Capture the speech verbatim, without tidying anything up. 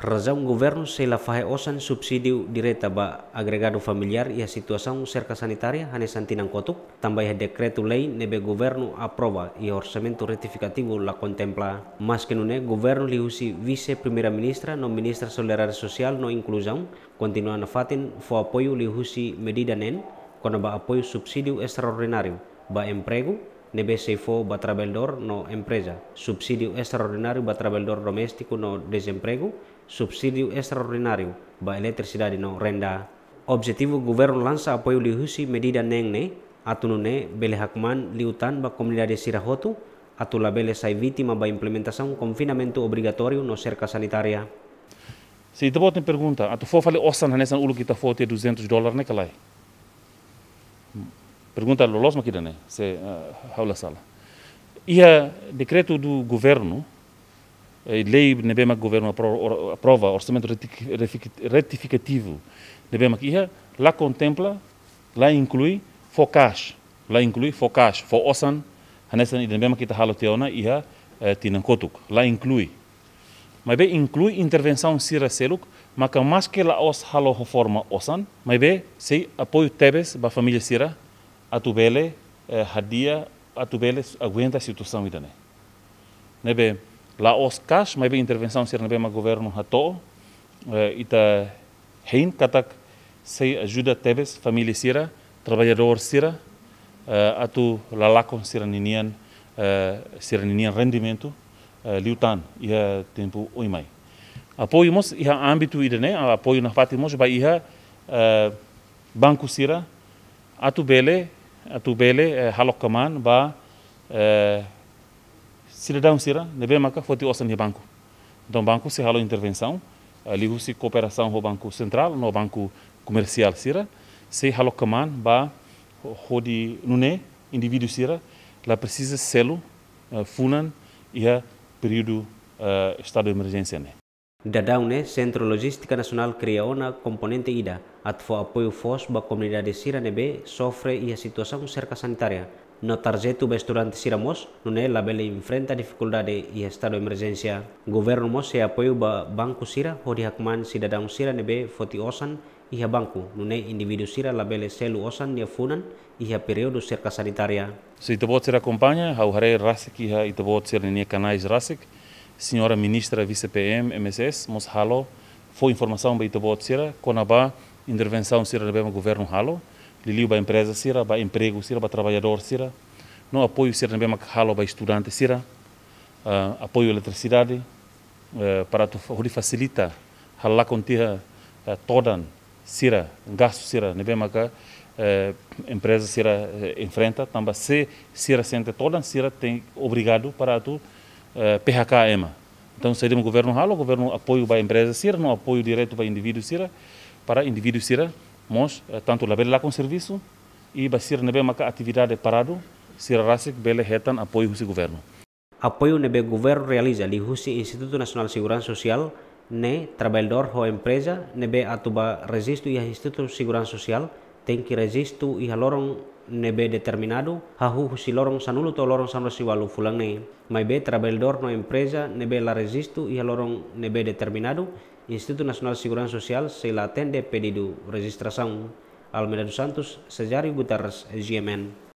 Razaun governu sei la fahe osan subsídiu direta ba agregadu familiár iha situasaun serka sanitária hanesan tinan kotuk, tanba iha dekretu-lei ne'ebé governu aprova iha orsamentu retifikativu la kontempla. Maske nune'e, governu liuhusi Vise-Primeira-Ministra no Ministra Solidariedade Sosiál no Inkluzaun kontinua nafatin fó apoiu liuhusi medida neen kona-ba apoiu subsídiu estraordináriu ba empregu ne'ebé sei fó ba traballadór no empreza, subsídiu estraordináriu ba traballadór doméstiku no dezempregu, subsídiu estraordináriu ba eletrisidade no renda. Objetivu governu lansa apoiu liuhusi medida neen ne'e atu nune'e bele hakmaan liután ba komunidade sira hotu atu labele sai vítima ba implementasaun konfinamentu obrigatóriu no serka sanitária. Se ita-boot nia pergunta, atu fó fali osan hanesan uluk ita fó tiha duzentus dólar ne'e ka lae? Pergunta loloos mak ida-ne'e, se, eh, ha'u la sala. Iha dekretu do governu, eh, lei ne'ebé mak governu apro-, or-, aprova, orsamentu retik-, refik-, retifikativu ne'ebé mak iha, la kontempla, la inklui fó cash, la inklui fó cash, fó osan, hanesan ida ne'ebé mak ita halo tiha ona iha, eh, tinan kotuk, la inklui. Maibé inklui intervensaun sira seluk, maka maske la'ós halo ho forma osan, maibé sei apoiu tebes ba família sira atu bele, eh, hadi'a, atu bele aguenta situasaun ida-ne'e. Ne'ebé la'ós cash, maibé intervensaun sira ne'ebé mak governu hato'o, eh, ita hein katak sei ajuda tebes família sira, traballadór sira, eh, atu la lakon sira-ninian, eh, sira-ninian rendimentu, eh, liután iha tempu oin mai. Apoiu mós iha ámbitu ida-ne'e, apoiu nafatin mós ba iha, eh, banku sira, atu bele, atu bele, eh, halo kmaan ba, eh, sidadaun sira ne'ebé maka foti osan iha banku. Entaun banku sei halo intervensaun, eh, liuhusi kooperasaun ho Banku Sentrál no banku komersiál sira, sei halo kmaan ba ho-, hodi nune'e indivíduu sira la presiza selu, eh, funan iha períodu, eh, estadu de emerjénsia ne'e. Daudaun ne'e, Sentru Lojístika Nasionál kria ona komponente ida atu fó apoiu foos ba komunidade sira ne'ebé sofre iha situasaun serka sanitária, no tarjetu ba estudante sira mós, nune'e labele enfrenta difikuldade iha estadu emerjénsia. Governu mós sei apoiu ba banku sira hodi hakmaan sidadaun sira ne'ebé foti osan iha banku, nune'e indivíduu sira labele selu osan nia funan iha períodu serka sanitária. Se ita-boot sira akompaña, ha'u haree rasik iha ita-boot sira-nia kanais rasik, Señora Ministra Vise-PM, M S S, mós halo, fó informasaun ba ita-boot sira kona-ba intervensaun sira ne'ebé mak governu halo, liuliu ba empreza sira, ba empregu sira, ba traballadór sira, no apoiu sira ne'ebé mak halo ba estudante sira, ah, apoiu eletrisidade, eh, para atu fa-, hodi fasilita halo lakon tiha, eh, todan sira, gastu sira ne'ebé maka, eh, empreza sira, eh, enfrenta, tanba se sira sente todan, sira tenke obrigadu para atu, eh, P H K ema. Entaun, saida mak governu halo, governu apoiu ba empreza sira, no apoiu diretu ba indivíduu sira, para indivíduu sira mós, eh, tantu labele lakon servisu, i ba sira ne'ebé maka atividade paradu, sira rasik bele hetan apoiu husi governu. Apoiu ne'ebé governu realiza liuhusi Institutu Nasionál Seguransa Sosiál ne'e, traballadór ho empreza ne'ebé atu ba rejistu iha Institutu Seguransa Sosiál tenke rejistu iha loron ne'ebé determinadu, hahú husi loron sanulu to'o loron sanulu-resin-ualu fulan ne'e. Maibé traballadór no empreza ne'ebé la rejistu iha loron ne'ebé determinadu, Institutu Nasionál Seguransa Sosiál sei la atende pedidu rejistrasaun. Almeida dos Santos, Cesário Guterres, G M N.